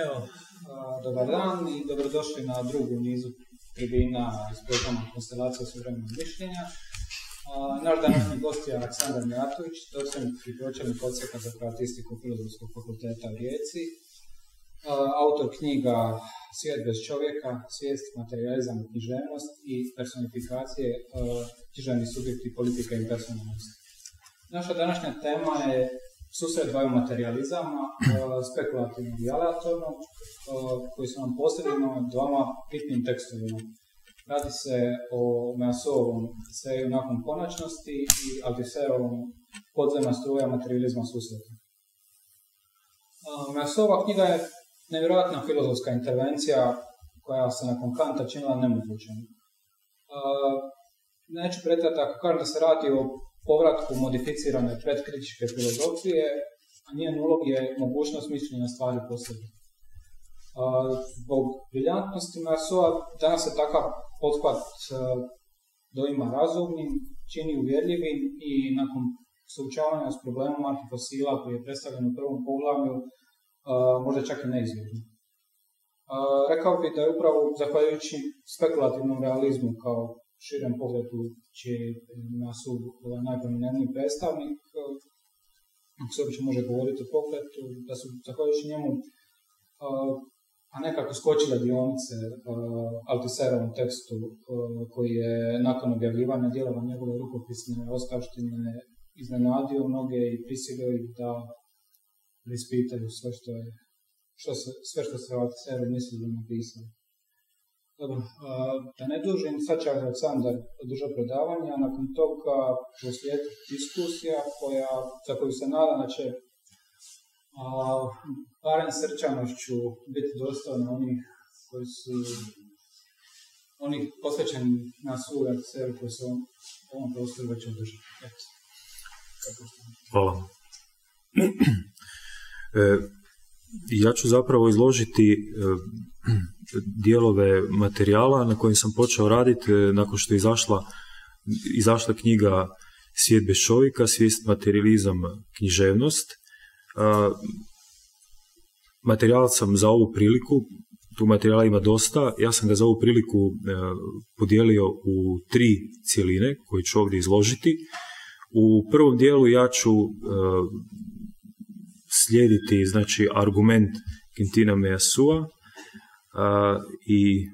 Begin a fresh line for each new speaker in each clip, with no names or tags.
Evo, dobar dan i dobrodošli na drugu nizu tribina iz programa Konstelacija suvremenog mišljenja. Naš današnji gost je Aleksandar Mijatović, docent i pročelnik odsjeka za kroatistiku Filozofskog fakulteta u Rijeci, autor knjiga Svijet bez čovjeka, svijest, materializam i književnost i personifikacije, književni subjekti politike i personalnosti. Naša današnja tema je susret dvaju materializama, spekulativnog i aleatornog, koji su nam postavljeni dvama bitnim tekstovima. Radi se o Meassovom eseju Nakon konačnosti i Althusserovom Podzemna struja materializma susreta. Meassova knjiga je nevjerojatna filozofska intervencija koja se nakon Kanta činila nemogućom. Neću pretjerati ako kažem da se radi o povratku modificirane predkritičke filozofije, a njen ulog je mogućnost mišljenja stvari po sebi. Zbog briljantnosti Meassoa danas se takav pothvat doima razumnim, čini uvjerljivim i nakon suočavanja s problemom arhifosila koji je predstavljen u prvom poglavlju, možda čak i neizvjesno. Rekao bih da je upravo zahvaljujući spekulativnom realizmu kao širem pogledu čiji je Meassov najprominentniji predstavnik, ako se uopće može govoriti o pogledu, da su zahvaljujući njemu a nekako skočile dionice Althusserovom tekstu koji je nakon objavljivanja dijelova njegove rukopisne ostavštine iznenadio mnoge i prisilio ih da preispitaju sve što se o Althusseru mislili napisali. Dobro, da ne dužim, sad će Aleksandar održati predavanje, a nakon toga proslijedi diskusija za koju se nadam da će barem srčanošću biti dostojna onih posvećeni na svu Althusseru koji se u ovom prostoru već održati.
Hvala. Ja ću zapravo izložiti dijelove materijala na kojim sam počeo raditi nakon što je izašla knjiga Svijet bez čovjeka, svijest, materializam, književnost. Materijal sam za ovu priliku, tu materijala ima dosta, ja sam ga za ovu priliku podijelio u 3 cjeline koje ću ovdje izložiti. U prvom dijelu ja ću slijediti znači, argument Quintina Meassoa i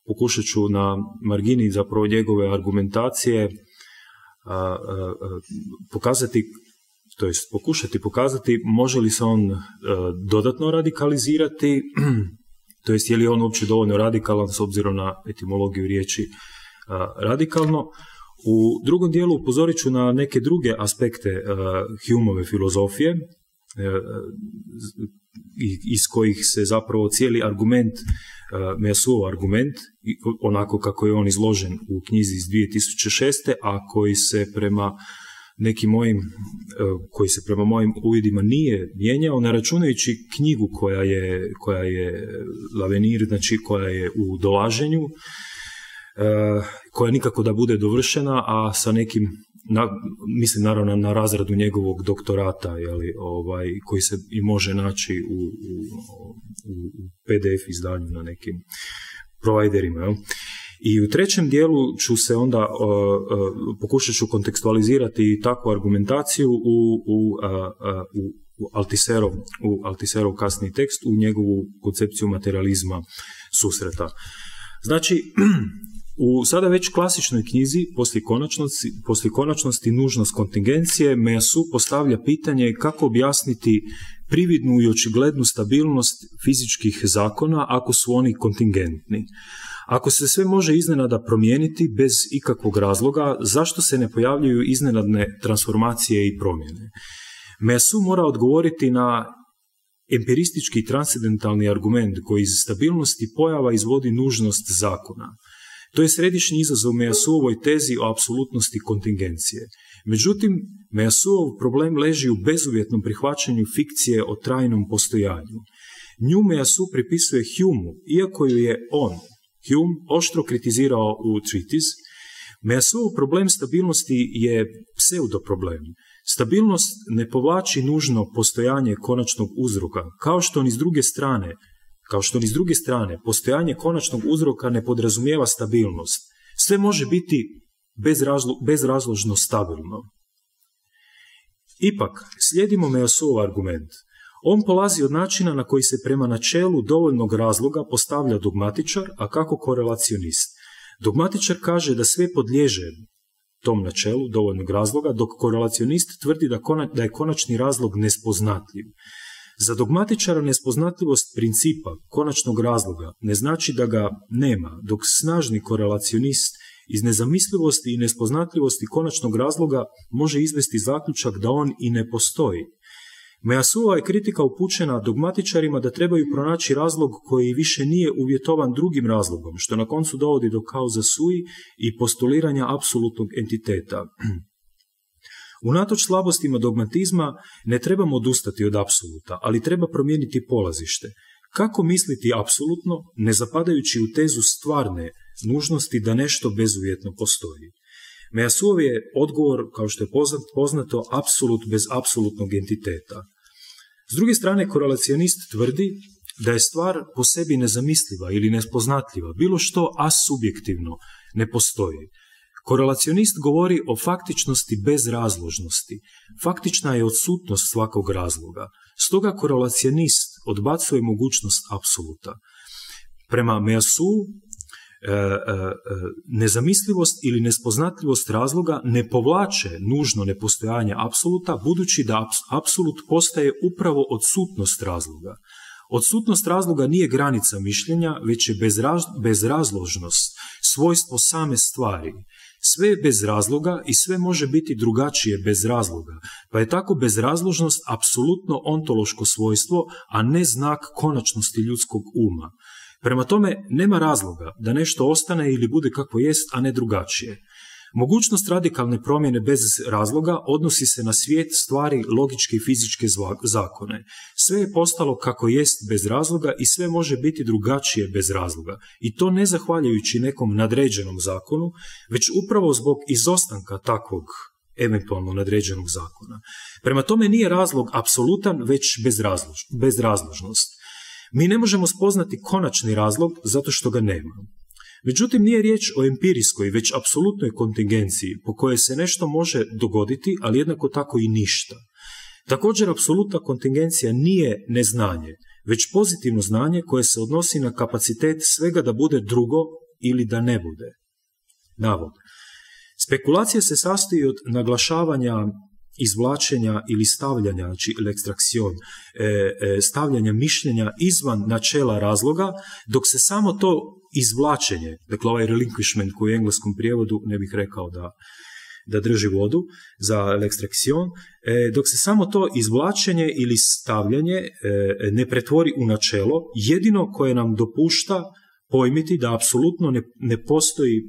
pokušat ću na margini zapravo njegove argumentacije pokušati pokazati može li se on dodatno radikalizirati, to jest je li on uopće dovoljno radikalan s obzirom na etimologiju riječi radikalno. U drugom dijelu upozorit ću na neke druge aspekte Humeove filozofije, iz kojih se zapravo cijeli argument, Meassoov argument, onako kako je on izložen u knjizi iz 2006. a koji se prema mojim uvidima nije mijenjao, ne računajući knjigu koja je L'Avenir, znači koja je u dolaženju, koja nikako da bude dovršena, a sa nekim, mislim naravno na razradu njegovog doktorata, koji se i može naći u PDF izdanju na nekim providerima. I u trećem dijelu ću se onda pokušat ću kontekstualizirati takvu argumentaciju u Althusserov kasni tekst, u njegovu koncepciju materializma susreta. Znači, u sada već klasičnoj knjizi, poslije konačnosti nužnost kontingencije, Meassov postavlja pitanje kako objasniti prividnu i očiglednu stabilnost fizičkih zakona ako su oni kontingentni. Ako se sve može iznenada promijeniti bez ikakvog razloga, zašto se ne pojavljuju iznenadne transformacije i promjene? Meassov mora odgovoriti na empiristički i transcendentalni argument koji iz stabilnosti pojava izvodi nužnost zakona. To je središnji izazov Meassoovoj tezi o apsolutnosti kontingencije. Međutim, Meassoov problem leži u bezuvjetnom prihvaćanju fikcije o trajnom postojanju. Nju Meassov pripisuje Humeu, iako ju je Hume oštro kritizirao u Treatise. Meassoov problem stabilnosti je pseudoproblem. Stabilnost ne povlači nužno postojanje konačnog uzroka, kao što ni s druge strane kao što ni s druge strane postojanje konačnog uzroka ne podrazumijeva stabilnost. Sve može biti bezrazložno stabilno. Ipak, slijedimo Meillassousov argument. On polazi od načina na koji se prema načelu dovoljnog razloga postavlja dogmatičar, a kako korelacionist. Dogmatičar kaže da sve podliježe tom načelu dovoljnog razloga, dok korelacionist tvrdi da je konačni razlog nespoznatljiv. Za dogmatičara nespoznatljivost principa konačnog razloga ne znači da ga nema, dok snažni korelacionist iz nezamislivosti i nespoznatljivosti konačnog razloga može izvesti zaključak da on i ne postoji. Meillassousova je kritika upućena dogmatičarima da trebaju pronaći razlog koji više nije uvjetovan drugim razlogom, što na koncu dovodi do causa sui i postuliranja apsolutnog entiteta. Unatoč slabostima dogmatizma ne trebamo odustati od apsoluta, ali treba promijeniti polazište. Kako misliti apsolutno, ne zapadajući u tezu stvarne nužnosti da nešto bezuvjetno postoji? Meillassousov je odgovor, kao što je poznato, apsolut bez apsolutnog entiteta. S druge strane, korelacionist tvrdi da je stvar po sebi nezamisliva ili nespoznatljiva, bilo što asubjektivno ne postoji. Korelacionist govori o faktičnosti bez razložnosti. Faktična je odsutnost svakog razloga. Stoga korelacionist odbacuje mogućnost apsoluta. Prema Meillassoussu, nezamislivost ili nespoznatljivost razloga ne povlače nužno nepostojanje apsoluta, budući da apsolut postaje upravo odsutnost razloga. Odsutnost razloga nije granica mišljenja, već je bezrazložnost, svojstvo same stvari. Sve je bez razloga i sve može biti drugačije bez razloga, pa je tako bezrazložnost apsolutno ontološko svojstvo, a ne znak konačnosti ljudskog uma. Prema tome, nema razloga da nešto ostane ili bude kako jest, a ne drugačije. Mogućnost radikalne promjene bez razloga odnosi se na svijet, stvari, logičke i fizičke zakone. Sve je postalo kako jest bez razloga i sve može biti drugačije bez razloga. I to ne zahvaljujući nekom nadređenom zakonu, već upravo zbog izostanka takvog eventualno nadređenog zakona. Prema tome nije razlog apsolutan, već bezrazložnost. Mi ne možemo spoznati konačni razlog zato što ga nema. Međutim, nije riječ o empirijskoj, već apsolutnoj kontingenciji po kojoj se nešto može dogoditi, ali jednako tako i ništa. Također, apsolutna kontingencija nije neznanje, već pozitivno znanje koje se odnosi na kapacitet svega da bude drugo ili da ne bude. Navod. Spekulacija se sastoji od naglašavanja, izvlačenja ili stavljanja, znači l'extraction, stavljanja mišljenja izvan načela razloga, dok se samo to izvlačenje, dakle ovaj relinquishment koji u engleskom prijevodu ne bih rekao da drži vodu za l'extraction, dok se samo to izvlačenje ili stavljanje ne pretvori u načelo, jedino koje nam dopušta pojmiti da apsolutno ne postoji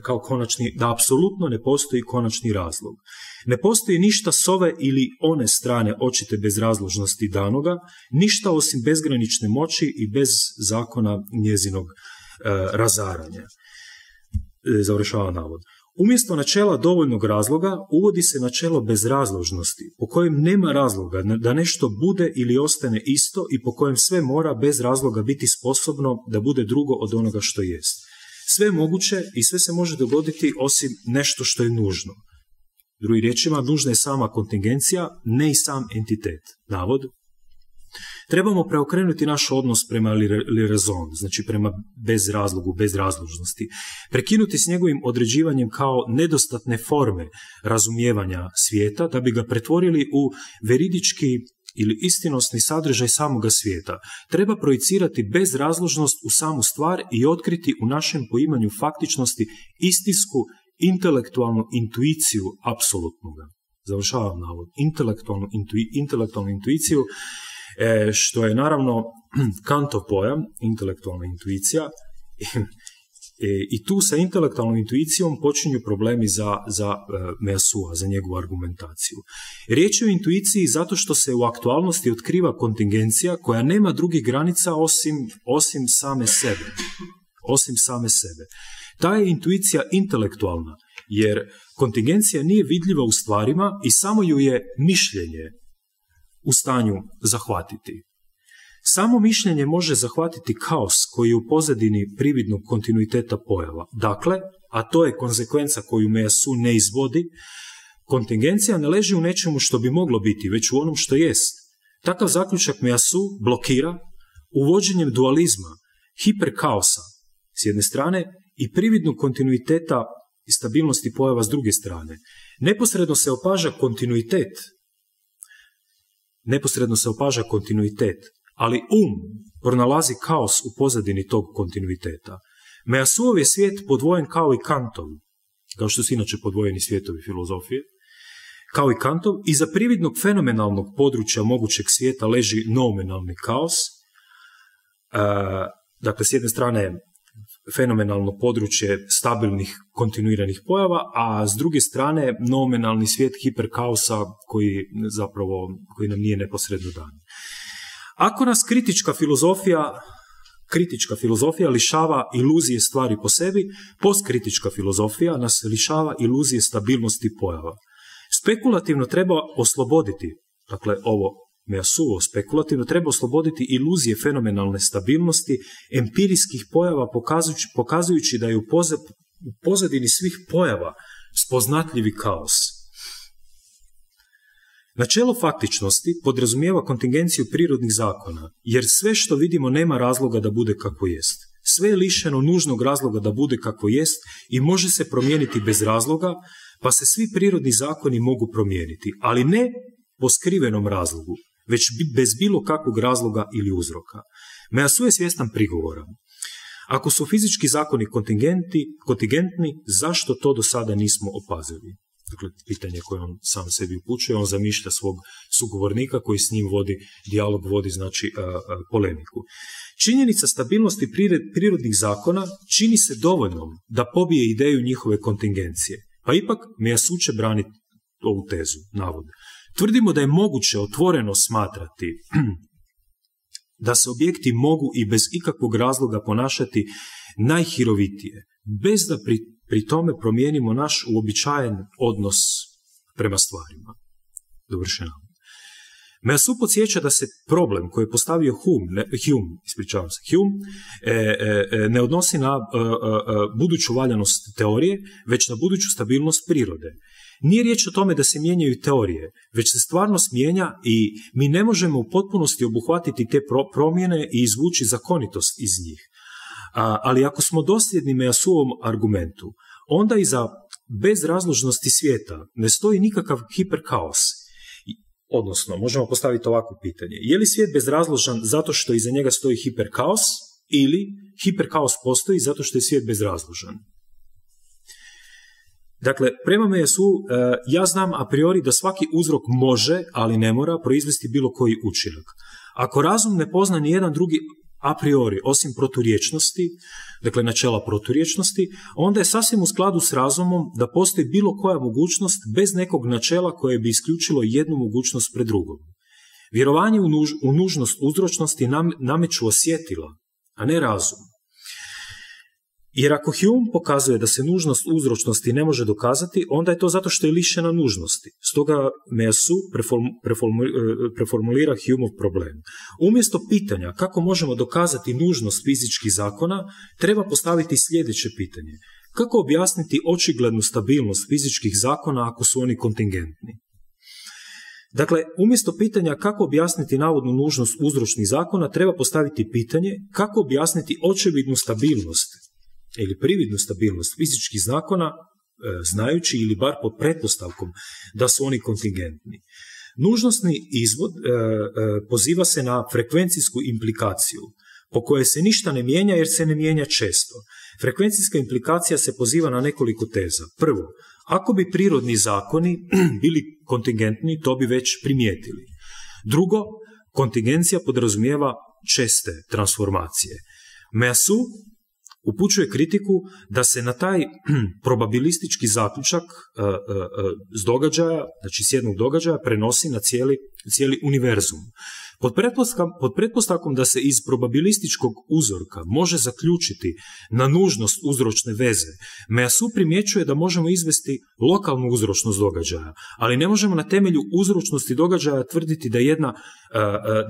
kao konačni, da apsolutno ne postoji konačni razlog. Ne postoji ništa s ove ili one strane očite bezrazložnosti danoga, ništa osim bezgranične moći i bez zakona njezinog razaranja. Završava navod. Umjesto načela dovoljnog razloga uvodi se načelo bezrazložnosti, po kojem nema razloga da nešto bude ili ostane isto i po kojem sve mora bez razloga biti sposobno da bude drugo od onoga što jest. Sve je moguće i sve se može dogoditi osim nešto što je nužno. Drugim riječima, nužna je sama kontingencija, ne i sam entitet. Navod. Trebamo preokrenuti naš odnos prema le raison, znači prema bezrazlogu, bezrazložnosti. Prekinuti s njegovim određivanjem kao nedostatne forme razumijevanja svijeta, da bi ga pretvorili u veridički ili istinosni sadržaj samoga svijeta. Treba projicirati bezrazložnost u samu stvar i otkriti u našem poimanju faktičnosti istinsku intelektualnu intuiciju apsolutnoga. Završavam navod. Intelektualnu intuiciju, što je naravno Kantov pojam, intelektualna intuicija, i tu sa intelektualnom intuicijom počinju problemi za Meillassous'a, za njegovu argumentaciju. Riječ je o intuiciji zato što se u aktualnosti otkriva kontingencija koja nema drugih granica osim same sebe. Osim same sebe. Ta je intuicija intelektualna, jer kontingencija nije vidljiva u stvarima i samo ju je mišljenje u stanju zahvatiti. Samo mišljenje može zahvatiti kaos koji je u pozadini prividnog kontinuiteta pojava. Dakle, a to je konsekvenca koju Meillassoux ne izvodi, kontingencija ne leži u nečemu što bi moglo biti, već u onom što jest. Takav zaključak Meillassoux blokira uvođenjem dualizma, hiperkaosa s jedne strane i prividnog kontinuiteta i stabilnosti pojava s druge strane. Neposredno se opaža kontinuitet, ali pronalazi kaos u pozadini tog kontinuiteta. Meillassousov je svijet podvojen kao i Kantov, kao što su inače podvojeni svijetovi filozofije, kao i Kantov, iza prividnog fenomenalnog područja mogućeg svijeta leži nominalni kaos. Dakle, s jedne strane fenomenalno područje stabilnih kontinuiranih pojava, a s druge strane nominalni svijet hiperkaosa koji nam nije neposredno dan. Ako nas kritička filozofija lišava iluzije stvari po sebi, postkritička filozofija nas lišava iluzije stabilnosti pojava. Spekulativno treba osloboditi, dakle ovo Meillassoux spekulativno treba osloboditi iluzije fenomenalne stabilnosti empirijskih pojava pokazujući da je u pozadini svih pojava spoznatljivi kaos. Načelo faktičnosti podrazumijeva kontingenciju prirodnih zakona, jer sve što vidimo nema razloga da bude kako jest. Sve je lišeno nužnog razloga da bude kako jest i može se promijeniti bez razloga, pa se svi prirodni zakoni mogu promijeniti, ali ne po skrivenom razlogu, već bez bilo kakvog razloga ili uzroka. Meillassoux je svjestan prigovora. Ako su fizički zakoni kontingentni, zašto to do sada nismo opazili? Dakle, pitanje koje on sam sebi upućuje, on zamišlja svog sugovornika koji s njim vodi dijalog, vodi znači polemiku. Činjenica stabilnosti prirodnih zakona čini se dovoljnom da pobije ideju njihove kontingencije. Pa ipak Meillassoux će braniti ovu tezu, navod. Tvrdimo da je moguće otvoreno smatrati da se objekti mogu i bez ikakvog razloga ponašati najhirovitije, bez da pri tome promijenimo naš uobičajen odnos prema stvarima. Dovršeno. Meillassoux podsjeća da se problem koji je postavio Hume ne odnosi na buduću valjanost teorije, već na buduću stabilnost prirode. Nije riječ o tome da se mijenjaju teorije, već se stvarnost mijenja i mi ne možemo u potpunosti obuhvatiti te promjene i izvući zakonitost iz njih. Ali ako smo dosljedni Meillassousov argumentu, onda iza bezrazložnosti svijeta ne stoji nikakav hiperkaos. Odnosno, možemo postaviti ovako pitanje. Je li svijet bezrazložan zato što iza njega stoji hiperkaos ili hiperkaos postoji zato što je svijet bezrazložan? Dakle, prema Meillassoux, ja znam a priori da svaki uzrok može, ali ne mora, proizvesti bilo koji učinak. Ako razum ne pozna ni jedan drugi a priori, osim proturječnosti, dakle načela proturječnosti, onda je sasvim u skladu s razumom da postoji bilo koja mogućnost bez nekog načela koje bi isključilo jednu mogućnost pred drugom. Vjerovanje u nužnost uzročnosti nameću osjetila, a ne razum. Jer ako Hume pokazuje da se nužnost uzročnosti ne može dokazati, onda je to zato što je lišena nužnosti. Stoga Meillassoux preformulira Humeov problem. Umjesto pitanja kako možemo dokazati nužnost fizičkih zakona, treba postaviti sljedeće pitanje. Kako objasniti očiglednu stabilnost fizičkih zakona ako su oni kontingentni? Dakle, umjesto pitanja kako objasniti navodnu nužnost uzročnih zakona, treba postaviti pitanje kako objasniti očevidnu stabilnost ili prividnu stabilnost fizičkih zakona, znajući ili bar pod pretpostavkom da su oni kontingentni. Nužnostni izvod poziva se na frekvencijsku implikaciju, po kojoj se ništa ne mijenja jer se ne mijenja često. Frekvencijska implikacija se poziva na nekoliko teza. Prvo, ako bi prirodni zakoni bili kontingentni, to bi već primijetili. Drugo, kontingencija podrazumijeva česte transformacije. Meillassoux upućuje kritiku da se na taj probabilistički zaključak s događaja, znači s jednog događaja, prenosi na cijeli univerzum. Pod pretpostavkom da se iz probabilističkog uzorka može zaključiti na nužnost uzročne veze, Meillassoux primjećuje da možemo izvesti lokalnu uzročnost događaja, ali ne možemo na temelju uzročnosti događaja tvrditi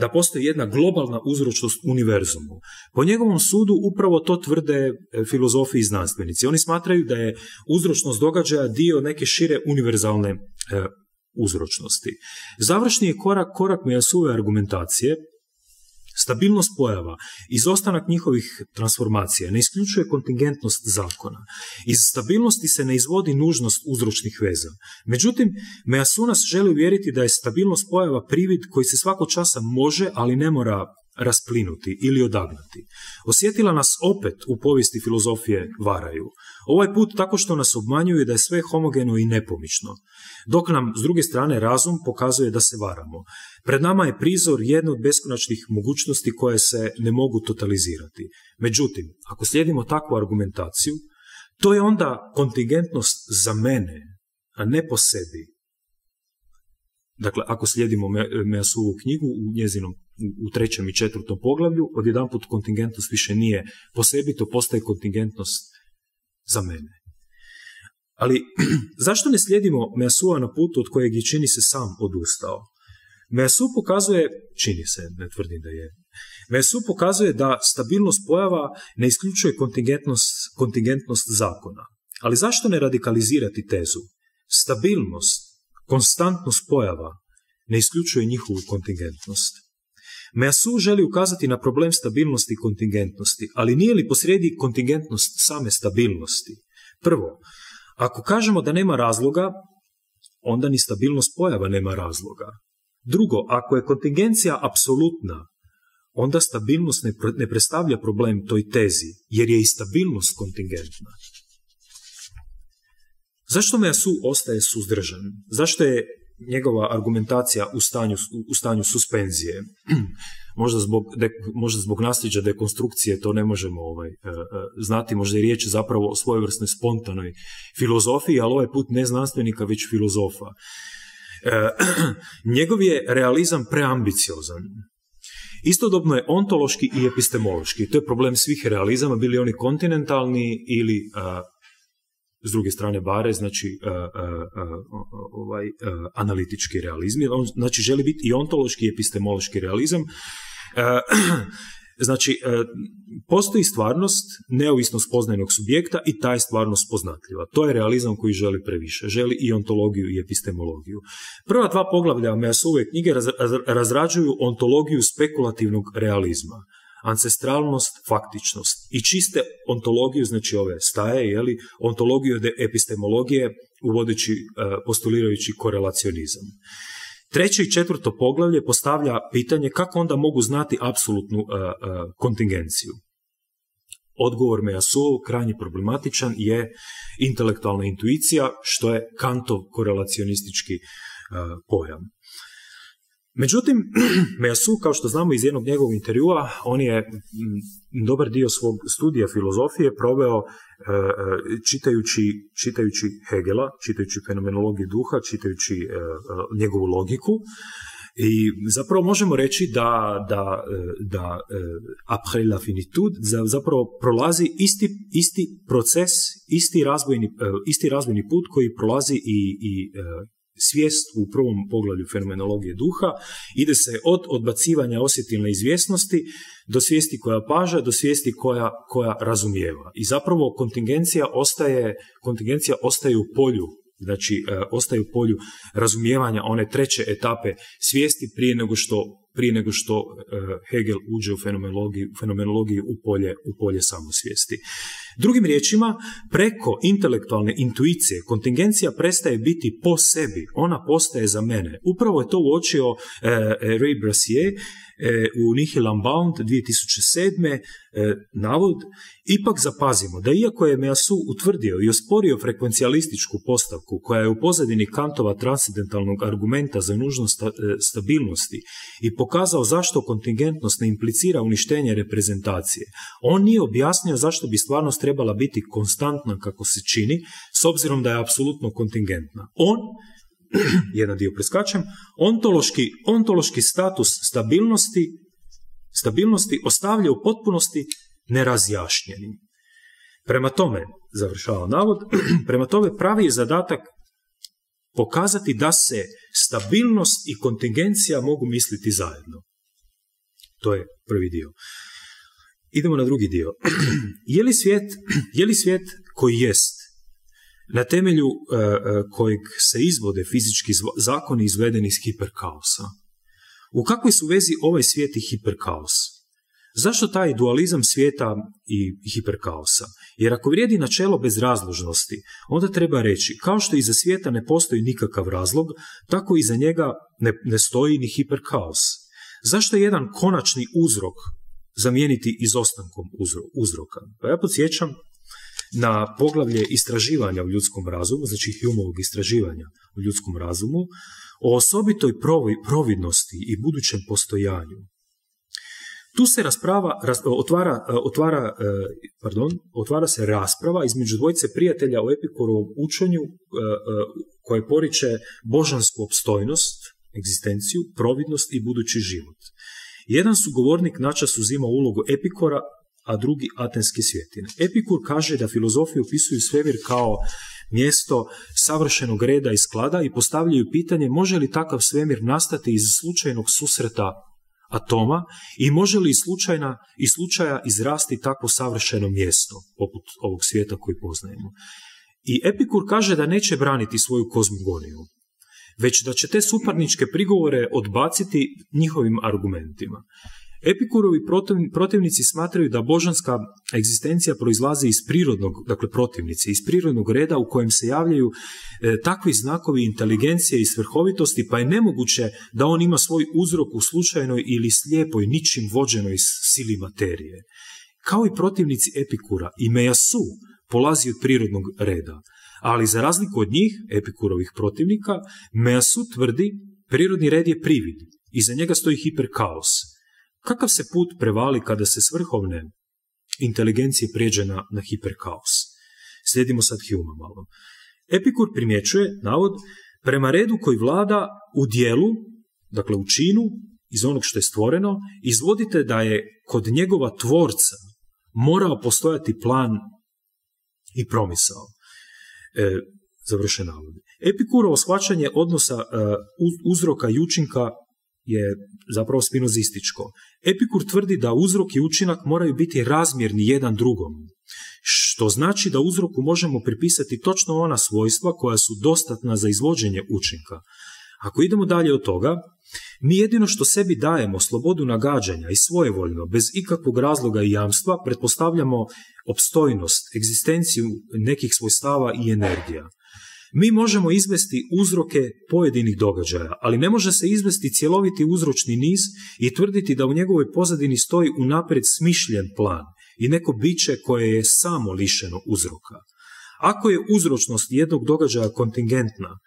da postoji jedna globalna uzročnost univerzumu. Po njegovom sudu upravo to tvrde filozofi i znanstvenici. Oni smatraju da je uzročnost događaja dio neke šire univerzalne uzročnosti. Završni je korak Meillassousove argumentacije, stabilnost pojava, izostanak njihovih transformacija ne isključuje kontingentnost zakona. Iz stabilnosti se ne izvodi nužnost uzročnih veza. Međutim, Meillassoux nas želi uvjeriti da je stabilnost pojava privid koji se svakog časa može, ali ne mora rasplinuti ili odagnati. Osjetila nas opet u povijesti filozofije varaju. Ovaj put tako što nas obmanjuju da je sve homogeno i nepomično, dok nam s druge strane razum pokazuje da se varamo. Pred nama je prizor jedne od beskonačnih mogućnosti koje se ne mogu totalizirati. Međutim, ako slijedimo takvu argumentaciju, to je onda kontingentnost za mene, a ne po sebi. Dakle, ako slijedimo Meillassousvu knjigu u njezinom u 3. i 4. poglavlju, odjedanput kontingentnost više nije po sebi, to postaje kontingentnost za mene. Ali zašto ne slijedimo Meillassoua na putu od kojeg je, čini se, sam odustao? Meillassoux pokazuje, čini se, ne tvrdim da je, Meillassoux pokazuje da stabilnost pojava ne isključuje kontingentnost zakona. Ali zašto ne radikalizirati tezu? Stabilnost, konstantnost pojava ne isključuje njihovu kontingentnost. Meillassoux želi ukazati na problem stabilnosti i kontingentnosti, ali nije li posrijedi kontingentnost same stabilnosti? Prvo, ako kažemo da nema razloga, onda ni stabilnost pojava nema razloga. Drugo, ako je kontingencija apsolutna, onda stabilnost ne predstavlja problem toj tezi, jer je i stabilnost kontingentna. Zašto Meillassoux ostaje suzdržan? Zašto je njegova argumentacija u stanju suspenzije? Možda zbog nasljeđa dekonstrukcije to ne možemo znati, možda je riječ zapravo o svojevrsnoj spontanoj filozofiji, ali ovaj put ne znanstvenika, već filozofa. Njegov je realizam preambiciozan. Istodobno je ontološki i epistemološki. To je problem svih realizama, bili oni kontinentalni ili s druge strane bare, znači analitički realizam. On, znači, želi biti i ontološki i epistemološki realizam. Znači, postoji stvarnost, neovisno spoznajnog subjekta i ta je stvarnost poznatljiva. To je realizam koji želi previše. Želi i ontologiju i epistemologiju. Prva dva poglavlja Meillassousove knjige razrađuju ontologiju spekulativnog realizma. Ancestralnost, faktičnost i čiste ontologiju, znači ove staje, ontologiju epistemologije uvodeći, postulirajući korelacionizam. 3. i 4. poglavlje postavlja pitanje kako onda mogu znati apsolutnu kontingenciju. Odgovor Meillassoux, krajnje problematičan, je intelektualna intuicija, što je Kantov korelacionistički pojam. Međutim, Meillassoux, kao što znamo iz jednog njegovog intervjua, on je dobar dio svog studija filozofije proveo čitajući Hegela, čitajući fenomenologiju duha, čitajući njegovu logiku. I zapravo možemo reći da après la finitude zapravo prolazi isti proces, isti razvojni put koji prolazi i svijest u prvom poglavlju fenomenologije duha. Ide se od odbacivanja osjetilne izvjesnosti do svijesti koja paža, do svijesti koja razumijeva. I zapravo kontingencija ostaje u polju, znači ostaje u polju razumijevanja one treće etape svijesti prije nego što Hegel uđe u fenomenologiju u polje samosvijesti. Drugim riječima, preko intelektualne intuicije kontingencija prestaje biti po sebi, ona postaje za mene. Upravo je to uočio Ray Brassier u Nihil Unbound 2007. Navod. Ipak zapazimo da iako je Meillassoux utvrdio i osporio frekvencijalističku postavku koja je u pozadini Kantova transcendentalnog argumenta za nužnost stabilnosti i pokazao zašto kontingentnost ne implicira uništenje reprezentacije, on nije objasnio zašto bi stvarnost trebala biti konstantna kako se čini, s obzirom da je apsolutno kontingentna. On jedan dio preskačem, ontološki status stabilnosti ostavlja u potpunosti nerazjašnjenim. Prema tome, završava navod, prema tome pravi je zadatak pokazati da se stabilnost i kontingencija mogu misliti zajedno. To je prvi dio. Idemo na drugi dio. Je li svijet koji jest, na temelju kojeg se izvode fizički zakoni izvedeni iz hiperkaosa? U kakvoj su vezi ovaj svijet i hiperkaos? Zašto taj dualizam svijeta i hiperkaosa? Jer ako vrijedi načelo bezrazložnosti, onda treba reći, kao što iza svijeta ne postoji nikakav razlog, tako iza njega ne stoji ni hiperkaos. Zašto je jedan konačni uzrok zamijeniti izostankom uzroka? Pa ja podsjećam na poglavlje istraživanja u ljudskom razumu, znači Humeovog istraživanja u ljudskom razumu, o osobitoj providnosti i budućem postojanju. Tu se otvara se rasprava između dvojice prijatelja o Epikurovom učenju koje poriče božansku opstojnost, egzistenciju, providnost i budući život. Jedan sugovornik načas uzima ulogu Epikora, a drugi atenske svjetine. Epikur kaže da filozofiju opisuju svemir kao mjesto savršenog reda i sklada i postavljaju pitanje može li takav svemir nastati iz slučajnog susreta atoma i može li iz slučaja izrasti takvo savršeno mjesto poput ovog svijeta koji poznajemo. I Epikur kaže da neće braniti svoju kozmogoniju, već da će te suparničke prigovore odbaciti njihovim argumentima. Epikurovi protivnici smatraju da božanska egzistencija proizlazi iz prirodnog, dakle protivnici, iz prirodnog reda u kojem se javljaju takvi znakovi inteligencije i svrhovitosti, pa je nemoguće da on ima svoj uzrok u slučajnoj ili slijepoj, ničim vođenoj sili materije. Kao i protivnici Epikura, i Mejasu polazi od prirodnog reda, ali za razliku od njih, Epikurovih protivnika, Mejasu tvrdi prirodni red je privid, iza njega stoji hiperkaos. Kakav se put prevali kada se s vrhovne inteligencije prijeđe na hiperkaos? Slijedimo sad Hume malo. Epikur primjećuje, navod, prema redu koji vlada u dijelu, dakle u činu, iz onog što je stvoreno, izvodite da je kod njegova tvorca morao postojati plan i promisao. Završen navod. Epikurovo shvaćanje odnosa uzroka i učinka je zapravo spinozističko. Epikur tvrdi da uzrok i učinak moraju biti razmjerni jedan drugom, što znači da uzroku možemo pripisati točno ona svojstva koja su dostatna za izvođenje učinka. Ako idemo dalje od toga, mi jedino što sebi dajemo slobodu nagađanja i svojevoljno, bez ikakvog razloga i jamstva, pretpostavljamo opstojnost, egzistenciju nekih svojstava i energija. Mi možemo izvesti uzroke pojedinih događaja, ali ne može se izvesti cjeloviti uzročni niz i tvrditi da u njegovoj pozadini stoji unaprijed smišljen plan i neko biće koje je samo lišeno uzroka. Ako je uzročnost jednog događaja kontingentna,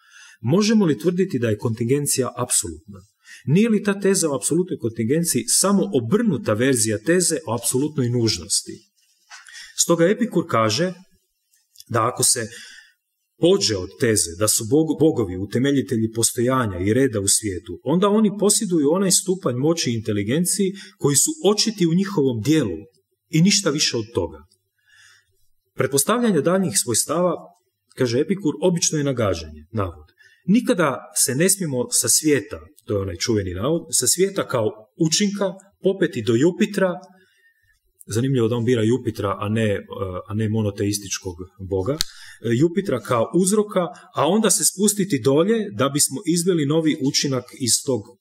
možemo li tvrditi da je kontingencija apsolutna? Nije li ta teza o apsolutnoj kontingenciji samo obrnuta verzija teze o apsolutnoj nužnosti? Stoga Epikur kaže da ako se pođe od teze da su bogovi utemeljitelji postojanja i reda u svijetu, onda oni posjeduju onaj stupanj moći i inteligenciji koji su očiti u njihovom dijelu i ništa više od toga. Pretpostavljanje daljnjih svojstava, kaže Epikur, obično je nagađanje, navod. Nikada se ne smijemo sa svijeta, to je onaj čuveni navod, sa svijeta kao učinka popeti do Jupitra. Zanimljivo da on bira Jupitra, a ne monoteističkog boga. Jupitra kao uzroka, a onda se spustiti dolje da bismo izveli novi učinak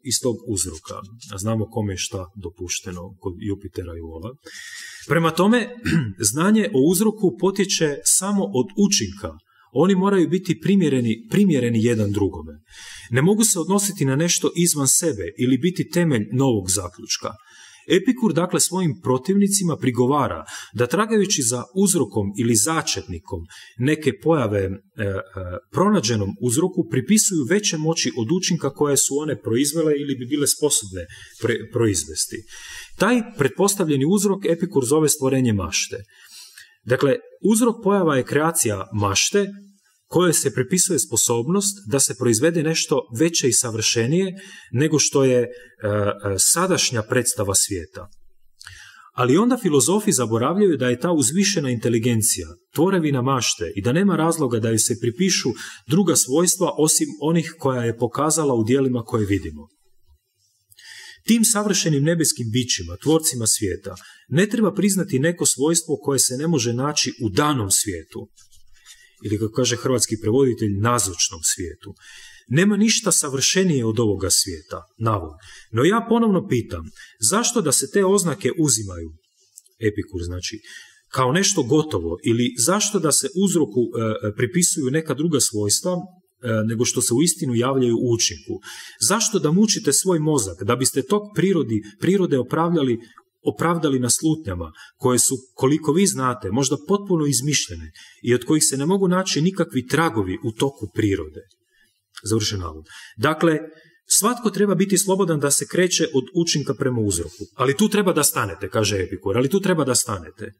iz tog uzroka. A znamo kome je šta dopušteno kod Jupitera i Vola. Prema tome, znanje o uzroku potječe samo od učinka. Oni moraju biti primjereni jedan drugome. Ne mogu se odnositi na nešto izvan sebe ili biti temelj novog zaključka. Epikur dakle svojim protivnicima prigovara da tragajući za uzrokom ili začetnikom neke pojave pronađenom uzroku pripisuju veće moći od učinka koje su one proizvele ili bi bile sposobne proizvesti. Taj pretpostavljeni uzrok Epikur zove stvorenje mašte. Dakle, uzrok pojava je kreacija mašte kojoj se pripisuje sposobnost da se proizvede nešto veće i savršenije nego što je sadašnja predstava svijeta. Ali onda filozofi zaboravljaju da je ta uzvišena inteligencija tvorevina mašte i da nema razloga da joj se pripišu druga svojstva osim onih koja je pokazala u djelima koje vidimo. Tim savršenim nebeskim bićima, tvorcima svijeta, ne treba priznati neko svojstvo koje se ne može naći u danom svijetu, ili kako kaže hrvatski prevoditelj, nazočnom svijetu. Nema ništa savršenije od ovoga svijeta, navod. No ja ponovno pitam, zašto da se te oznake uzimaju, Epikur znači, kao nešto gotovo, ili zašto da se uzroku pripisuju neka druga svojstva nego što se uistinu javljaju u učinku? Zašto da mučite svoj mozak da biste tog prirode opravdali na slutnjama koje su, koliko vi znate, možda potpuno izmišljene i od kojih se ne mogu naći nikakvi tragovi u toku prirode? Završen navod. Dakle, svatko treba biti slobodan da se kreće od učinka prema uzroku. Ali tu treba da stanete, kaže Epikur, ali tu treba da stanete.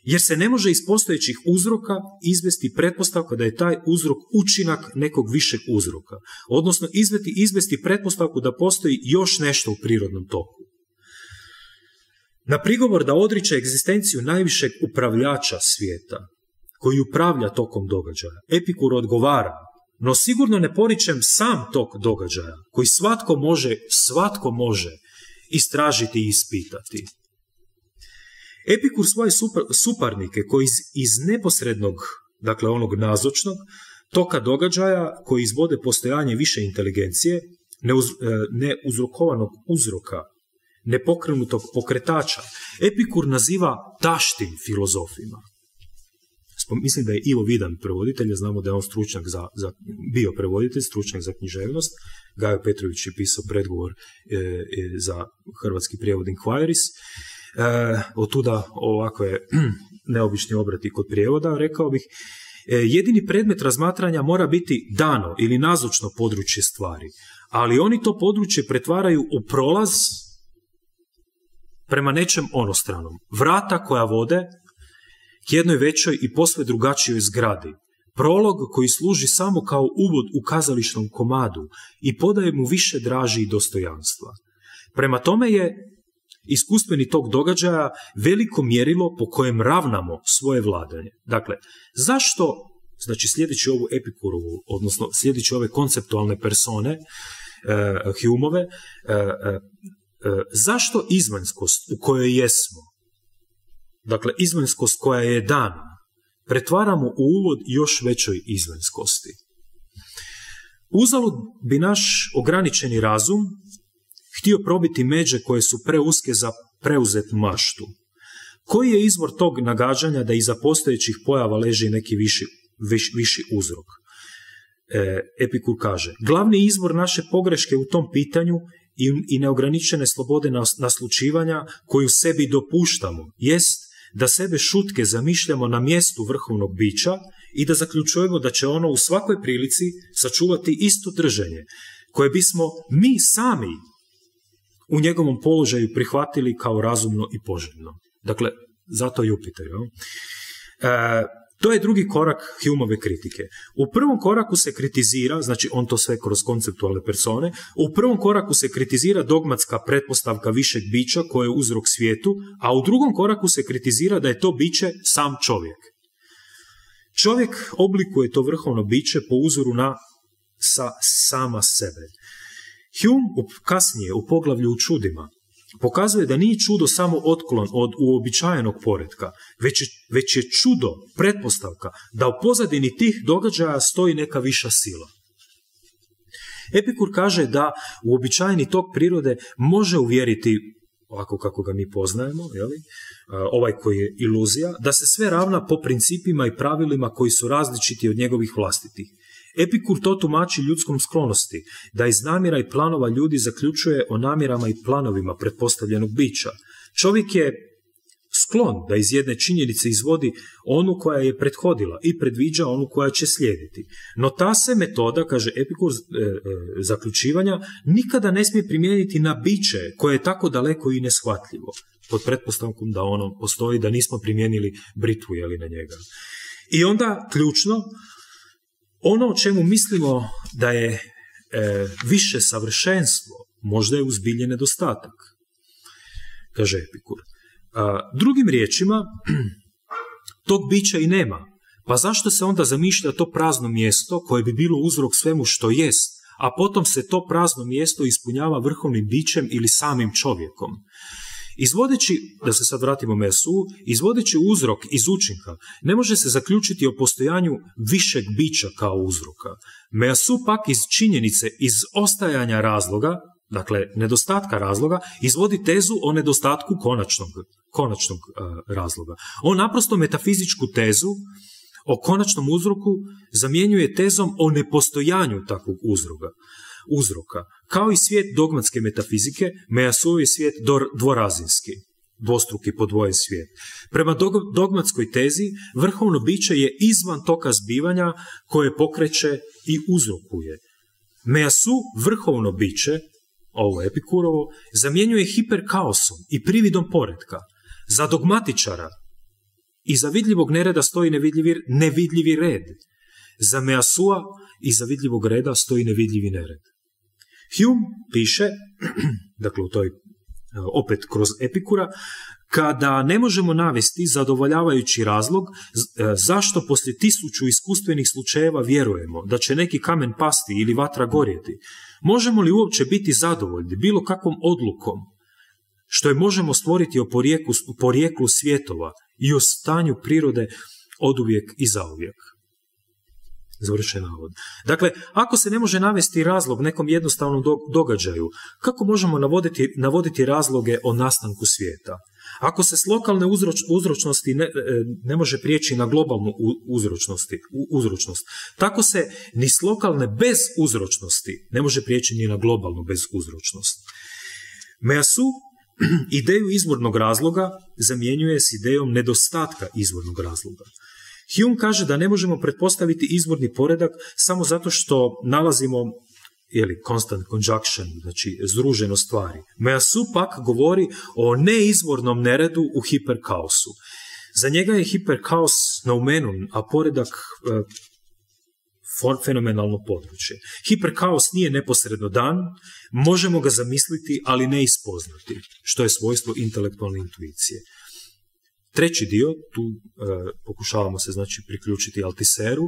Jer se ne može iz postojećih uzroka izvesti pretpostavka da je taj uzrok učinak nekog višeg uzroka. Odnosno, izvesti pretpostavku da postoji još nešto u prirodnom toku. Na prigovor da odriče egzistenciju najvišeg upravljača svijeta, koji upravlja tokom događaja, Epikur odgovara: no sigurno ne poričem sam tok događaja, koji svatko može istražiti i ispitati. Epikur svoje suparnike koji iz neposrednog, dakle onog nazočnog, toka događaja koji izvode postojanje više inteligencije, neuzrokovanog uzroka, nepokrenutog pokretača, Epikur naziva taštim filozofima. Mislim da je Ivo Vidan prevoditelj, znamo da je on stručnjak bio prevoditelj, stručnjak za književnost. Gajo Petrović je pisao predgovor za hrvatski prijevod Inquiris. Otuda ovakve neobični obrati kod prijevoda, rekao bih. Jedini predmet razmatranja mora biti dano ili nazočno područje stvari, ali oni to područje pretvaraju u prolaz prema nečem onostranom. Vrata koja vode k jednoj većoj i posve drugačijoj zgradi. Prolog koji služi samo kao uvod u kazališnom komadu i podaje mu više draži i dostojanstva. Prema tome je iskustveni tog događaja veliko mjerilo po kojem ravnamo svoje vladanje. Dakle, zašto, znači sljedeći ovu Epikurovu, odnosno sljedeći ove konceptualne persone, Humeove, zašto izvanjskost u kojoj jesmo, dakle izvanjskost koja je dana, pretvaramo u uvod još većoj izvanjskosti? Uzalud bi naš ograničeni razum htio probiti međe koje su preuske za preuzetu maštu. Koji je izvor tog nagađanja da iza postojećih pojava leži neki viši uzrok? Epikur kaže: glavni izvor naše pogreške u tom pitanju i neograničene slobode naslučivanja koju sebi dopuštamo jest da sebe šutke zamišljamo na mjestu vrhovnog bića i da zaključujemo da će ono u svakoj prilici sačuvati isto držanje koje bismo mi sami u njegovom položaju prihvatili kao razumno i poželjno. Dakle, zato Jupiter. To je drugi korak Humeove kritike. U prvom koraku se kritizira, znači on to sve kroz konceptualne persone, u prvom koraku se kritizira dogmatska pretpostavka višeg bića koje je uzrok svijetu, a u drugom koraku se kritizira da je to biće sam čovjek. Čovjek oblikuje to vrhovno biće po uzoru na sama sebe. Hume kasnije u poglavlju u čudima pokazuje da nije čudo samo otklon od uobičajenog poretka, već je čudo pretpostavka da u pozadini tih događaja stoji neka viša sila. Epikur kaže da uobičajeni tok prirode može uvjeriti, ovako kako ga mi poznajemo, ovaj koji je iluzija, da se sve ravna po principima i pravilima koji su različiti od njegovih vlastitih. Epikur to tumači ljudskom sklonosti, da iz namjera i planova ljudi zaključuje o namjerama i planovima pretpostavljenog bića. Čovjek je sklon da iz jedne činjenice izvodi onu koja je prethodila i predviđa onu koja će slijediti. No ta se metoda, kaže Epikur, zaključivanja, nikada ne smije primijeniti na biće koje je tako daleko i neshvatljivo, pod pretpostavkom da ono postoji, da nismo primijenili britvu na njega. I onda, ključno, Ono o čemu mislimo da je više savršenstvo, možda je uzbilje nedostatak, kaže Epikur. Drugim riječima, tog bića i nema. Pa zašto se onda zamišlja to prazno mjesto koje bi bilo uzrok svemu što jest, a potom se to prazno mjesto ispunjava vrhovnim bićem ili samim čovjekom? Izvodeći, da se sad vratimo Measu, izvodeći uzrok iz učinka, ne može se zaključiti o postojanju višeg bića kao uzroka. Measu pak iz činjenice, iz ostajanja razloga, dakle nedostatka razloga, izvodi tezu o nedostatku konačnog razloga. On naprosto metafizičku tezu o konačnom uzroku zamjenjuje tezom o nepostojanju takvog uzroka. Kao i svijet dogmatske metafizike, Measuov je svijet dvorazinski, dvostruki podvojen svijet. Prema dogmatskoj tezi, vrhovno biće je izvan toka zbivanja koje pokreće i uzrokuje. Measu, vrhovno biće, ovo Epikurovo, zamjenjuje hiperkaosom i prividom poretka. Za dogmatičara iza vidljivog nereda stoji nevidljivi red. Za Measua iza vidljivog reda stoji nevidljivi nered. Hume piše, dakle u toj, opet kroz Epikura, kada ne možemo navesti zadovoljavajući razlog zašto poslije 1000 iskustvenih slučajeva vjerujemo da će neki kamen pasti ili vatra gorjeti, možemo li uopće biti zadovoljni bilo kakvom odlukom što je možemo stvoriti o porijeklu svjetova i o stanju prirode oduvijek i zauvijek. Završen navod. Dakle, ako se ne može navesti razlog nekom jednostavnom događaju, kako možemo navoditi razloge o nastanku svijeta? Ako se s lokalne uzročnosti ne može prijeći na globalnu uzročnost, tako se ni s lokalne bez uzročnosti ne može prijeći ni na globalnu bez uzročnost. Measu ideju izvornog razloga zamjenjuje s idejom nedostatka izvornog razloga. Hume kaže da ne možemo pretpostaviti izvorni poredak samo zato što nalazimo constant conjunction, znači združeno stvari. Measu pak govori o neizvornom neredu u hiperkaosu. Za njega je hiperkaos noumenon, a poredak fenomenalno područje. Hiperkaos nije neposredno dan, možemo ga zamisliti, ali ne ispoznati, što je svojstvo intelektualne intuicije. Treći dio, tu pokušavamo se znači priključiti Altiseru.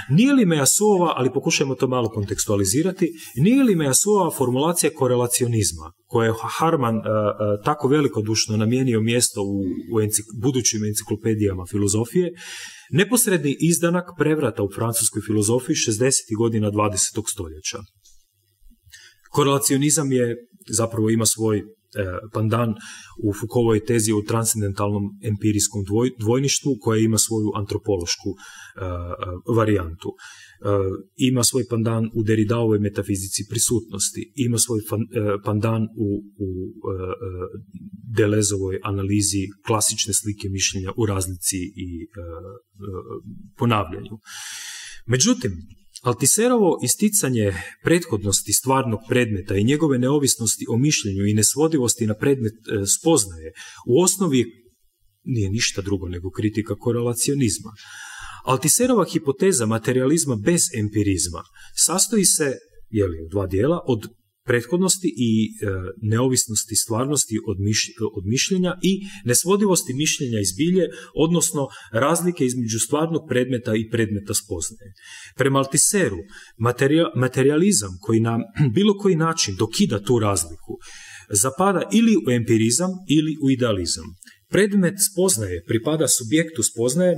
Nije li Measuova, ali pokušajmo to malo kontekstualizirati, nije li Measuova formulacija korelacionizma, koje je Harman tako velikodušno namijenio mjesto u budućim enciklopedijama filozofije, neposredni izdanak prevrata u francuskoj filozofiji 60. godina 20. stoljeća. Korelacionizam zapravo ima svoj pandan u Foucaultovoj tezi o transcendentalnom empirijskom dvojništvu, koja ima svoju antropološku varijantu. Ima svoj pandan u Derridaovoj metafizici prisutnosti, ima svoj pandan u Deleuzeovoj analizi klasične slike mišljenja u razlici i ponavljanju. Međutim, Altiserovo isticanje prethodnosti stvarnog predmeta i njegove neovisnosti o mišljenju i nesvodivosti na predmet spoznaje u osnovi nije ništa drugo nego kritika korelacionizma. Altiserova hipoteza materializma bez empirizma sastoji se u dva dijela od prethodnosti i neovisnosti stvarnosti od mišljenja i nesvodivosti mišljenja iz bilje, odnosno razlike između stvarnog predmeta i predmeta spoznaje. Prema Altiseru, materializam koji na bilo koji način dokida tu razliku zapada ili u empirizam ili u idealizam. Predmet spoznaje pripada subjektu spoznaje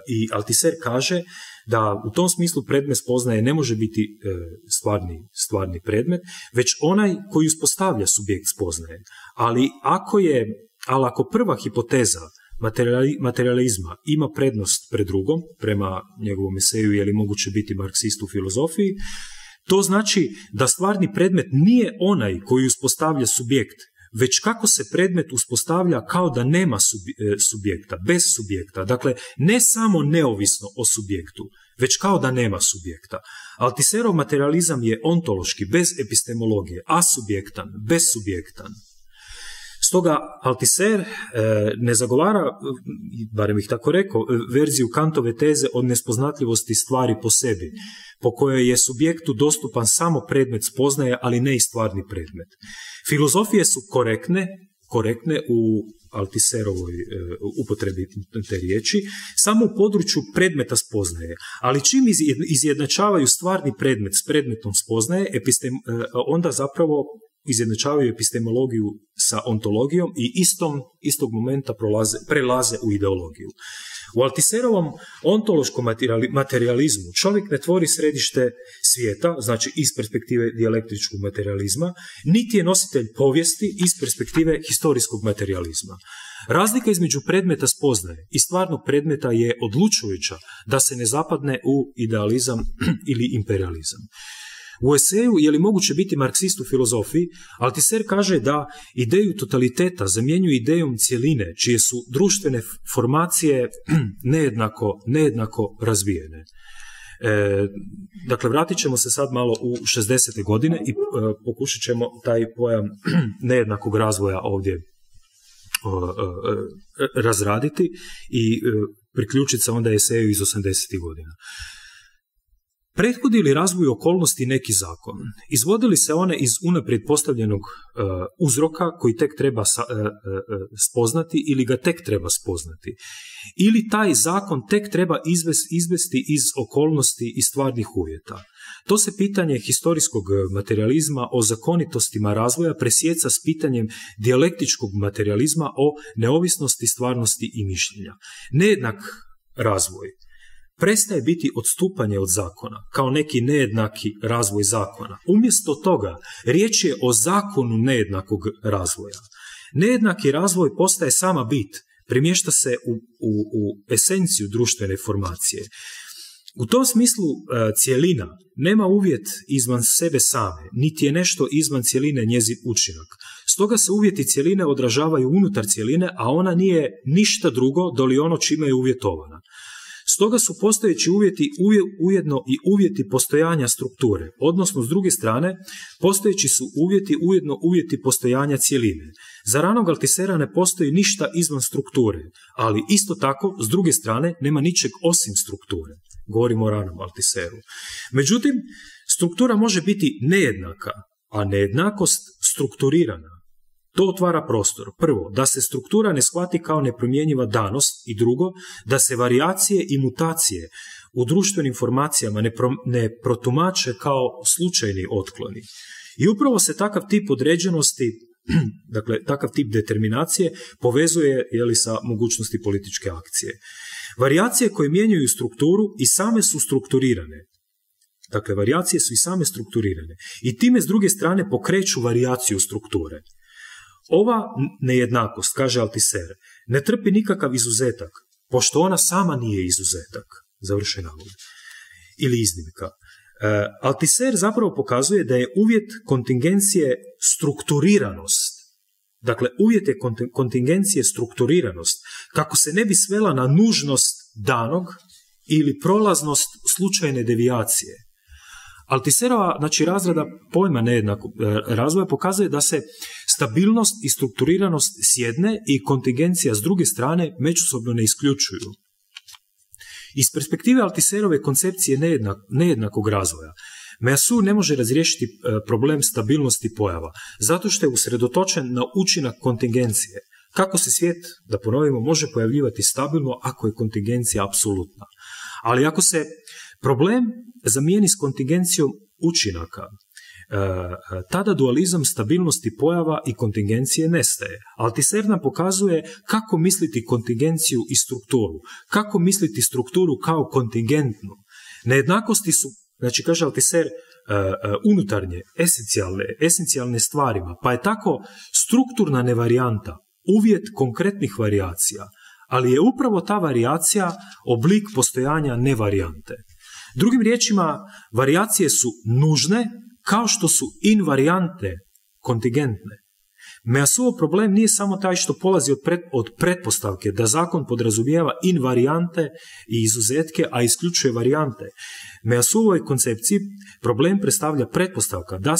i Altiser kaže da u tom smislu predmet spoznaje ne može biti stvarni predmet, već onaj koji uspostavlja subjekt spoznaje. Ali ako prva hipoteza materializma ima prednost pred drugom, prema njegovom eseju je li moguće biti marksist u filozofiji, to znači da stvarni predmet nije onaj koji uspostavlja subjekt, već kako se predmet uspostavlja kao da nema subjekta, bez subjekta. Dakle, ne samo neovisno o subjektu, već kao da nema subjekta. Altiserov materializam je ontološki, bez epistemologije, asubjektan, bezsubjektan. Stoga Althusser ne zagovara, barem bih tako rekao, verziju Kantove teze od nespoznatljivosti stvari po sebi, po kojoj je subjektu dostupan samo predmet spoznaje, ali ne i stvarni predmet. Filozofije su korektne u Althusserovoj upotrebi te riječi, samo u području predmeta spoznaje, ali čim izjednačavaju stvarni predmet s predmetom spoznaje, onda zapravo izjednačavaju epistemologiju sa ontologijom i istog momenta prelaze u ideologiju. U Althusserovom ontološkom materializmu čovjek ne tvori središte svijeta, znači iz perspektive dijalektičkog materializma, niti je nositelj povijesti iz perspektive historijskog materializma. Razlika između predmeta spoznaje i stvarnog predmeta je odlučujuća da se ne zapadne u idealizam ili imperializam. U eseju Je li moguće biti marksist u filozofiji, Althusser kaže da ideju totaliteta zamjenjuje idejom cjeline, čije su društvene formacije nejednako razvijene. Dakle, vratit ćemo se sad malo u 60. godine i pokušat ćemo taj pojam nejednakog razvoja ovdje razraditi i priključiti se onda eseju iz 80. godina. Prethodi li razvoju okolnosti neki zakon? Izvodili se one iz unaprijed postavljenog uzroka koji tek treba spoznati ili ga tek treba spoznati? Ili taj zakon tek treba izvesti iz okolnosti i stvarnih uvjeta? To se pitanje historijskog materializma o zakonitostima razvoja presjeca s pitanjem dijalektičkog materializma o neovisnosti, stvarnosti i mišljenja. Nejednak razvoj prestaje biti odstupanje od zakona, kao neki nejednaki razvoj zakona. Umjesto toga, riječ je o zakonu nejednakog razvoja. Nejednaki razvoj postaje sama bit, primješta se u esenciju društvene formacije. U tom smislu cjelina nema uvjet izvan sebe same, niti je nešto izvan cjeline njezin učinak. Stoga se uvjeti cjeline odražavaju unutar cjeline, a ona nije ništa drugo doli ono čime je uvjetovana. Stoga su postojeći uvjeti ujedno i uvjeti postojanja strukture, odnosno s druge strane, postojeći su uvjeti ujedno uvjeti postojanja cjeline. Za ranog Althussera ne postoji ništa izvan strukture, ali isto tako, s druge strane, nema ničeg osim strukture. Govorimo o ranom Althusseru. Međutim, struktura može biti nejednaka, a nejednakost strukturirana. To otvara prostor. Prvo, da se struktura ne shvati kao nepromjenjiva danost i drugo, da se varijacije i mutacije u društvenim formacijama ne protumače kao slučajni otkloni. I upravo se takav tip određenosti, dakle takav tip determinacije povezuje sa mogućnosti političke akcije. Varijacije koje mijenjaju strukturu i same su strukturirane. Dakle, varijacije su i same strukturirane. I time s druge strane pokreću varijaciju strukture. Ova nejednakost, kaže Althusser, ne trpi nikakav izuzetak, pošto ona sama nije izuzetak, završen navod, ili iznimka. Althusser zapravo pokazuje da je uvjet kontingencije strukturiranost. Dakle, uvjet je kontingencije strukturiranost, kako se ne bi svela na nužnost danog ili prolaznost slučajne devijacije. Althusserova, znači, razrada pojma nejednakog razvoja pokazuje da se stabilnost i strukturiranost s jedne i kontingencija s druge strane međusobno ne isključuju. Iz perspektive Althusserove koncepcije nejednakog razvoja, Meillassoux ne može razriješiti problem stabilnosti pojava, zato što je usredotočen na učinak kontingencije. Kako se svijet, da ponovimo, može pojavljivati stabilno ako je kontingencija apsolutna. Ali ako se problem zamijeni s kontingencijom učinaka, tada dualizam stabilnosti pojava i kontingencije nestaje. Althusser nam pokazuje kako misliti kontingenciju i strukturu, kako misliti strukturu kao kontingentnu. Nejednakosti su, znači, kaže Althusser, unutarnje, esencijalne stvarima, pa je tako strukturna nevarijanta uvjet konkretnih varijacija, ali je upravo ta varijacija oblik postojanja nevarijante. Drugim riječima, varijacije su nužne kao što su invarijante kontingentne. Meillassousov problem nije samo taj što polazi od pretpostavke da zakon podrazumijeva invarijante i izuzetke, a isključuje varijante. Meillassousovoj koncepciji problem predstavlja pretpostavka da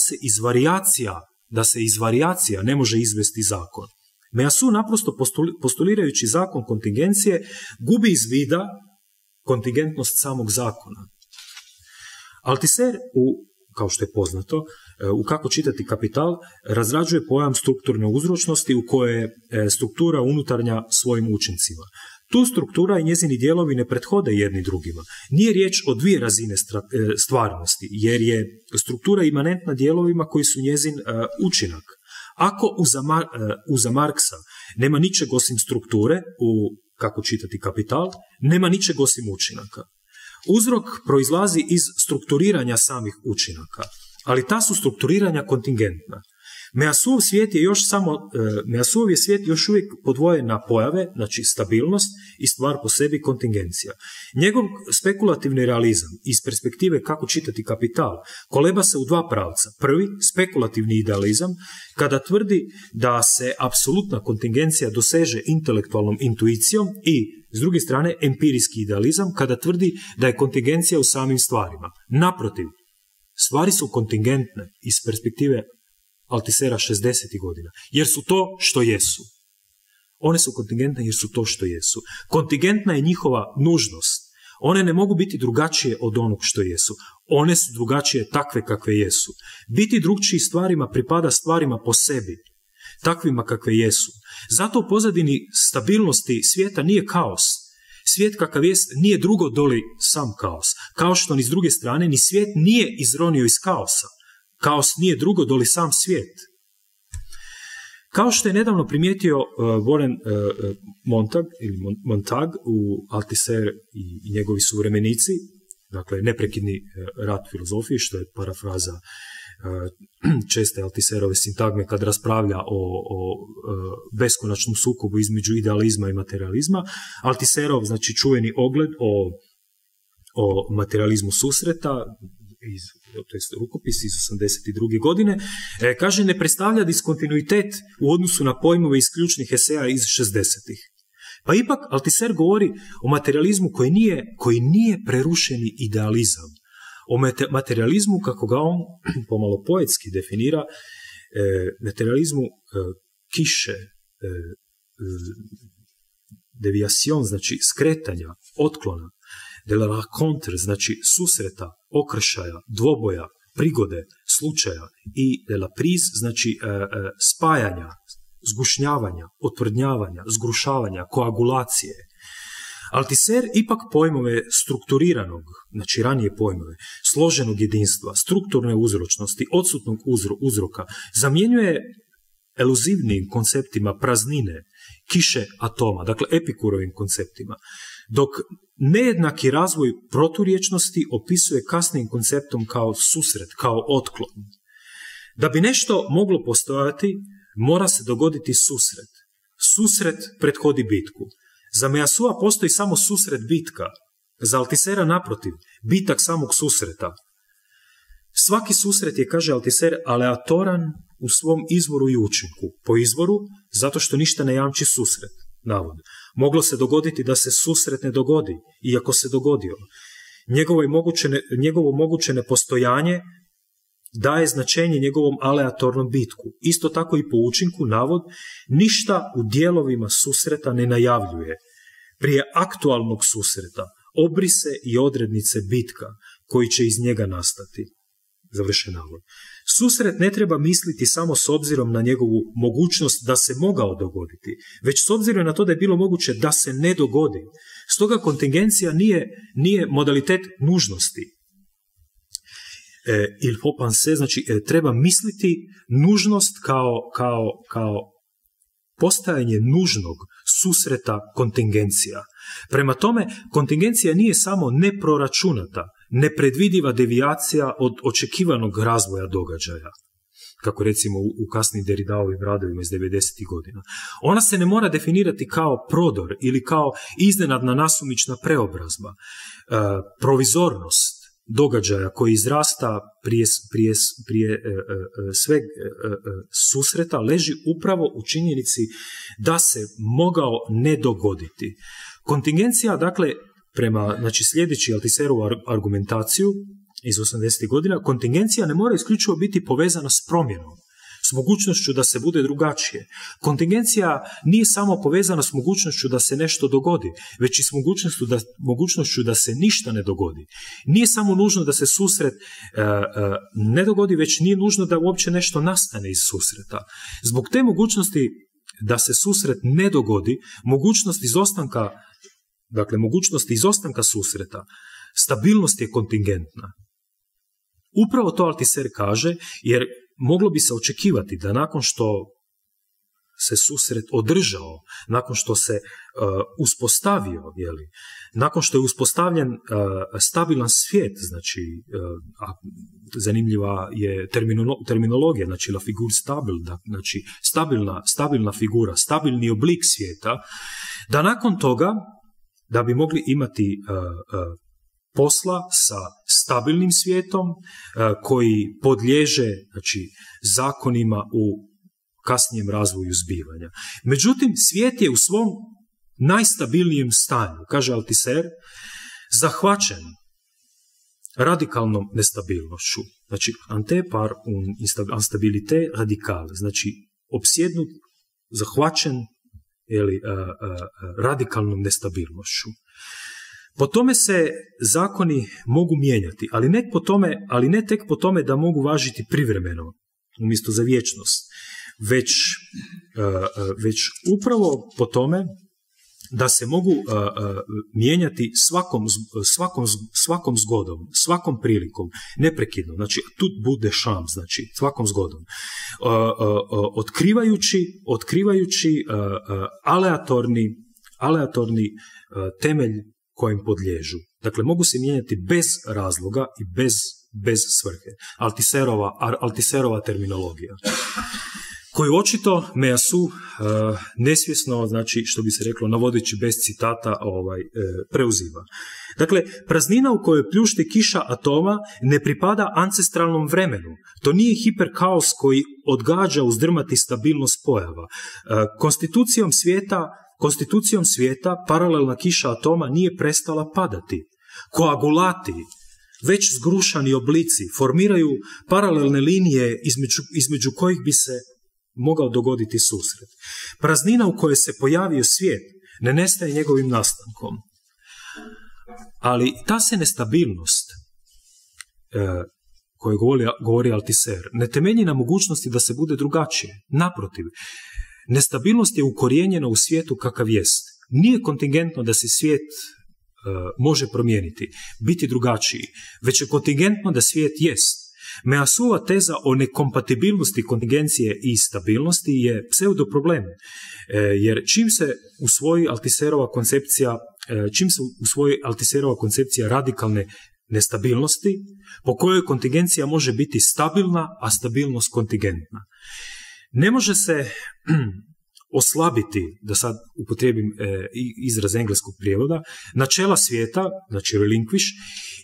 se iz varijacija ne može izvesti zakon. Measu naprosto postulirajući zakon kontingencije gubi iz vida kontingentnost samog zakona. Althusser, kao što je poznato, u Kako čitati kapital, razrađuje pojam strukturne uzročnosti u kojoj je struktura unutarnja svojim učincima. Tu struktura i njezini dijelovi ne prethode jedni drugima. Nije riječ o dvije razine stvarnosti, jer je struktura imanentna dijelovima koji su njezin učinak. Ako uza Marksa nema ničeg osim strukture, u Kako čitati kapital, nema ničeg osim učinaka. Uzrok proizlazi iz strukturiranja samih učinaka, ali ta su strukturiranja kontingentna. Measuov je svijet još uvijek podvojen na pojave, znači stabilnost i stvar po sebi kontingencija. Njegov spekulativni realizam iz perspektive Kako čitati kapital koleba se u dva pravca. Prvi, spekulativni idealizam, kada tvrdi da se apsolutna kontingencija doseže intelektualnom intuicijom, i s druge strane empirijski idealizam, kada tvrdi da je kontingencija u samim stvarima. Naprotiv, stvari su kontingentne iz perspektive Althussera 60. godina, jer su to što jesu. One su kontingentne jer su to što jesu. Kontingentna je njihova nužnost. One ne mogu biti drugačije od onog što jesu. One su drugačije takve kakve jesu. Biti drugčiji stvarima pripada stvarima po sebi, takvima kakve jesu. Zato u pozadini stabilnosti svijeta nije kaos. Svijet kakav jest nije drugo doli sam kaos. Kao što ni s druge strane ni svijet nije izronio iz kaosa. Kaos nije drugo doli sam svijet. Kao što je nedavno primijetio Warren Montag u Althusser i njegovi suvremenici, dakle neprekidni rat filozofije, što je parafraza česte Althusserove sintagme kad raspravlja o beskonačnom sukobu između idealizma i materializma. Althusserov, znači čuveni ogled o materializmu susreta, to je rukopis iz 82. godine, kaže ne predstavlja diskontinuitet u odnosu na pojmove iz ključnih eseja iz 60-ih. Pa ipak Althusser govori o materializmu koji nije prerušeni idealizam. O materializmu, kako ga on pomalo poetski definira, materializmu kiše, deviation, znači skretanja, otklona, de la rencontre, znači susreta, okršaja, dvoboja, prigode, slučaja, i de la prise, znači spajanja, zgušnjavanja, otvrdnjavanja, zgrušavanja, koagulacije. Althusser ipak pojmove strukturiranog, znači ranije pojmove, složenog jedinstva, strukturne uzročnosti, odsutnog uzroka, zamjenjuje eluzivnim konceptima praznine, kiše atoma, dakle Epikurovim konceptima, dok nejednaki razvoj proturječnosti opisuje kasnijim konceptom kao susret, kao otklon. Da bi nešto moglo postojati, mora se dogoditi susret. Susret prethodi bitku. Za Measua postoji samo susret bitka, za Althussera naprotiv, bitak samog susreta. Svaki susret je, kaže Althusser, aleatoran u svom izvoru i učinku. Po izvoru, zato što ništa ne jamči susret, navod. Moglo se dogoditi da se susret ne dogodi, iako se dogodio. Njegovo moguće nepostojanje daje značenje njegovom aleatornom bitku. Isto tako i po učinku, navod, ništa u dijelovima susreta ne najavljuje. Prije aktualnog susreta obrise i odrednice bitka koji će iz njega nastati. Završen navod. Susret ne treba misliti samo s obzirom na njegovu mogućnost da se mogao dogoditi, već s obzirom na to da je bilo moguće da se ne dogodi. Stoga kontingencija nije modalitet nužnosti. Il faut penser, znači treba misliti nužnost kao postajanje nužnog susreta kontingencija. Prema tome, kontingencija nije samo neproračunata, nepredvidiva devijacija od očekivanog razvoja događaja, kako recimo u kasnim Derridaovim radovima iz 90. godina. Ona se ne mora definirati kao prodor ili kao iznenadna nasumična preobrazba. Provizornost događaja koji izrasta prije sveg susreta leži upravo u činjenici da se mogao ne dogoditi. Kontingencija, dakle, sljedeći Althusserovu argumentaciju iz 80. godina, kontingencija ne mora isključivo biti povezana s promjenom, s mogućnošću da se bude drugačije. Kontingencija nije samo povezana s mogućnošću da se nešto dogodi, već i s mogućnošću da se ništa ne dogodi. Nije samo nužno da se susret ne dogodi, već nije nužno da uopće nešto nastane iz susreta. Zbog te mogućnosti da se susret ne dogodi, mogućnost izostanka susreta, stabilnost je kontingentna. Upravo to Althusser kaže, jer moglo bi se očekivati da nakon što se susret održao, nakon što se uspostavio, nakon što je uspostavljen stabilan svijet, znači zanimljiva je terminologija, znači la figure stable, znači stabilna figura, stabilni oblik svijeta, da nakon toga, da bi mogli imati posla sa stabilnim svijetom koji podliježe, znači, zakonima u kasnijem razvoju zbivanja. Međutim, svijet je u svom najstabilnijem stanju, kaže Althusser, zahvaćen radikalnom nestabilnošću. Znači, ante par un instabilité radicale, znači opsjednut, zahvaćen radikalnom nestabilnošću. Po tome se zakoni mogu mijenjati, ali ne tek po tome da mogu važiti privremeno, umjesto za vječnost, već upravo po tome da se mogu mijenjati svakom zgodom, svakom prilikom, neprekidno, znači tout bout de champ, znači svakom zgodom, otkrivajući aleatorni temelj kojem podliježu. Dakle, mogu se mijenjati bez razloga i bez svrhe. Althusserova terminologija, koju očito Meillassoux nesvjesno, znači, što bi se reklo, navodeći bez citata, preuzima. Dakle, praznina u kojoj pljušti kiša atoma ne pripada ancestralnom vremenu. To nije hiperkaos koji odgađa uzdrmati stabilnost pojava. Konstitucijom svijeta paralelna kiša atoma nije prestala padati. Koagulati, već zgrušani oblici, formiraju paralelne linije između kojih bi se mogao dogoditi susret. Praznina u kojoj se pojavio svijet ne nestaje njegovim nastankom. Ali ta se nestabilnost koju govori Althusser ne temelji na mogućnosti da se bude drugačije. Naprotiv, nestabilnost je ukorijenjena u svijetu kakav jest. Nije kontingentno da se svijet može promijeniti, biti drugačiji, već je kontingentno da svijet jest. Meillassousova teza o nekompatibilnosti kontingencije i stabilnosti je pseudoproblem, jer čim se usvoji Althusserova koncepcija radikalne nestabilnosti, po kojoj kontingencija može biti stabilna, a stabilnost kontingentna. Ne može se oslabiti, da sad upotrijebim izraz engleskog prijevoda, načela svijeta, znači relinquish,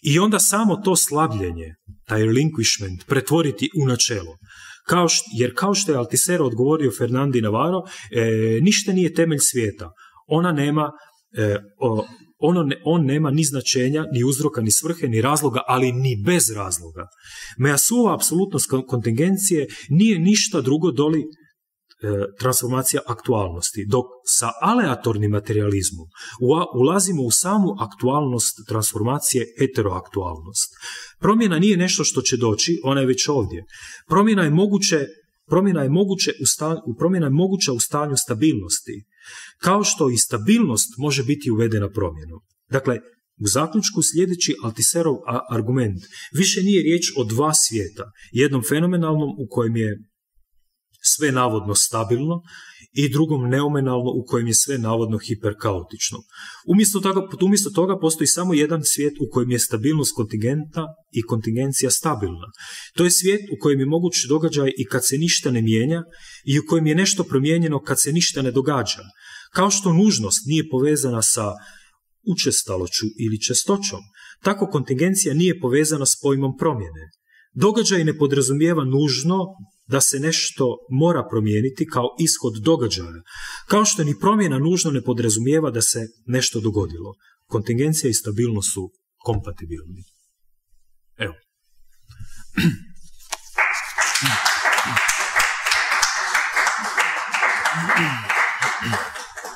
i onda samo to slabljenje, taj relinquishment, pretvoriti u načelo. Jer kao što je Althusser odgovorio Fernandi Navarro, ništa nije temelj svijeta. On nema ni značenja, ni uzroka, ni svrhe, ni razloga, ali ni bez razloga. Meillassousova apsolutnost kontingencije nije ništa drugo doli transformacija aktualnosti, dok sa aleatornim materializmom ulazimo u samu aktualnost transformacije, heteroaktualnost. Promjena nije nešto što će doći, ona je već ovdje. Promjena je moguća u stanju stabilnosti, kao što i stabilnost može biti uvedena promjenom. Dakle, u zaključku sljedeći Althusserov argument, više nije riječ o dva svijeta, jednom fenomenalnom u kojem je sve navodno stabilno i drugom neomenalno u kojem je sve navodno hiperkaotično. Umjesto toga postoji samo jedan svijet u kojem je stabilnost kontingentna i kontingencija stabilna. To je svijet u kojem je moguć događaj i kad se ništa ne mijenja i u kojem je nešto promijenjeno kad se ništa ne događa. Kao što nužnost nije povezana sa učestaloću ili čestoćom, tako kontingencija nije povezana s pojmom promjene. Događaj ne podrazumijeva nužno da se nešto mora promijeniti kao ishod događaja, kao što ni promjena nužno ne podrazumijeva da se nešto dogodilo. Kontingencija i stabilnost su kompatibilni.